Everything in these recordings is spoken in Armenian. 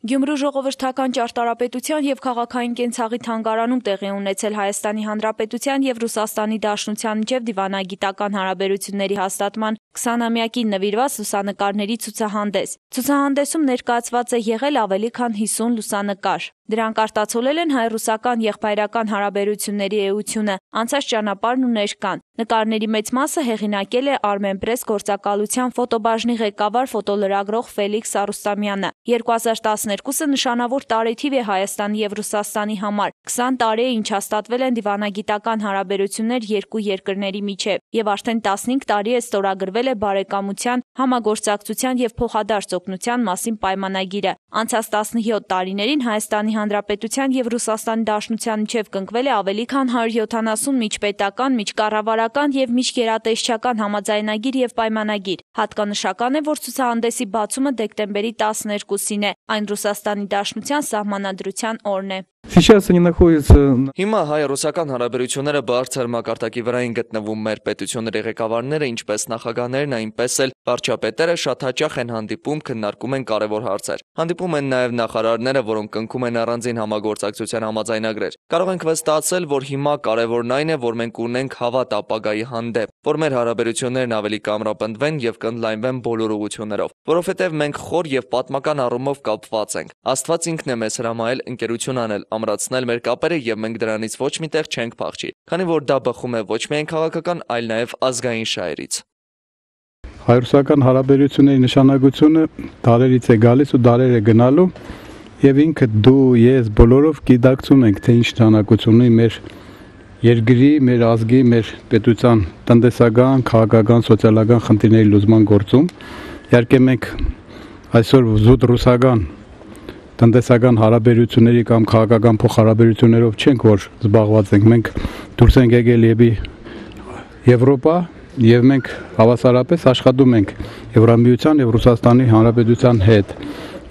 Գյումրու ժողովրդական ճարտարապետության և քաղաքային կենցաղի թանգարանում տեղի ունեցել Հայաստանի Հանրապետության և Ռուսաստանի Դաշնության միջև դիվանագիտական հարաբերությունների հաստատման 20-ամյակին նվիրված լուսանկարների ցուցահանդես։ Ցուցահանդեսում ներկայացված է եղել ավելի քան 50 լուսանկար։ Դրանք արտացոլել են հայ-ռուսական եղբայրական հարաբերությունների էությունը, անցած ճանապարհն ու ներկան։ Նկարների մեծ մասը հեղինակել է Armenpress գործակալության ֆոտոբաժնի ղեկավար ֆոտոլրագրող Ֆելիքս Արուստամյանը։ 2012-ը նշանավոր տարեթիվ է Հայաստանի և Ռուսաստանի համար։ 20 տարի է, ինչ հաստատվել են դիվանագիտական հարաբերություններ երկու երկրների միջև, և արդեն 15 տարի է ստորագրվել է բարեկամության, համագործակցության և փոխադարձ օգնության մասին պայմանագիրը։ Անցած 17 տարիներին Հայաստանի Հանրապետության և Ռուսաստանի Դաշնության միջև կնքվել է ավելի քան 170 միջպետական, միջկառավարական և միջգերատեսչական համաձայնագիր և պայմանագիր։ Հատկանշական է, որ ցուցահանդեսի բացումը դեկտեմբերի 12-ին է, այն Ռուսաստանի Դաշնության սահմանադրության օրն է։ Հիմա հայ-ռուսական հարաբերությունները բարձր մակարդակի վրա են գտնվում։ Մեր պետությունների ղեկավարները, ինչպես նախագահներն, այնպես էլ վարչապետերը շատ հաճախ են հանդիպում, քննարկում են կարևոր հարցեր։ Հանդիպում են նաև նախարարները, որոնք կնքում են առանձին համագործակցության համաձայնագրեր։ Կարող ենք վստահել, որ հիմա կարևորն այն է, որ մենք ունենք հավատ ապագայի հանդեպ, որ մեր հարաբերություններն ավելի կամրապնդվեն և կընդլայնվեն բոլոր ուղղություններով, որովհետև մենք խոր և պատմական առումով կապված ենք։ Աստված ինքն է մեզ հրամայել ընկերություն անել, ամրացնել մեր կապերը, և մենք դրանից ոչ մի տեղ չենք փախչի, քանի որ դա բխում է ոչ միայն քաղաքական, այլ նաև ազգային շահերից։ Հայ-ռուսական հարաբերությունների նշանակությունը դարերից է գալիս ու դարեր է գնալու, եւ ինքը դու, ես բոլորով գիտակցում ենք, թե ինչ նշանակություն ունի մեր երկրի, մեր ազգի, մեր պետության տնտեսական, քաղաքական, սոցիալական խնդիրների լուծման գործում։ Իհարկե մենք այսօր զուտ ռուսական տնտեսական հարաբերությունների կամ քաղաքական փոխհարաբերություններով չենք, որ զբաղված ենք։ Մենք դուրս ենք եկել Եվրոպա, եւ մենք հավասարապես աշխատում ենք Եվրամիության եւ Ռուսաստանի Հանրապետության հետ։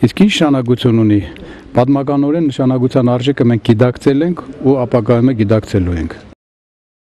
Իսկ ինչ նշանակություն ունի։ Պատմականորեն նշանակության արժեքը մենք գիտակցել ենք ու ապագայում գիտակցելու ենք։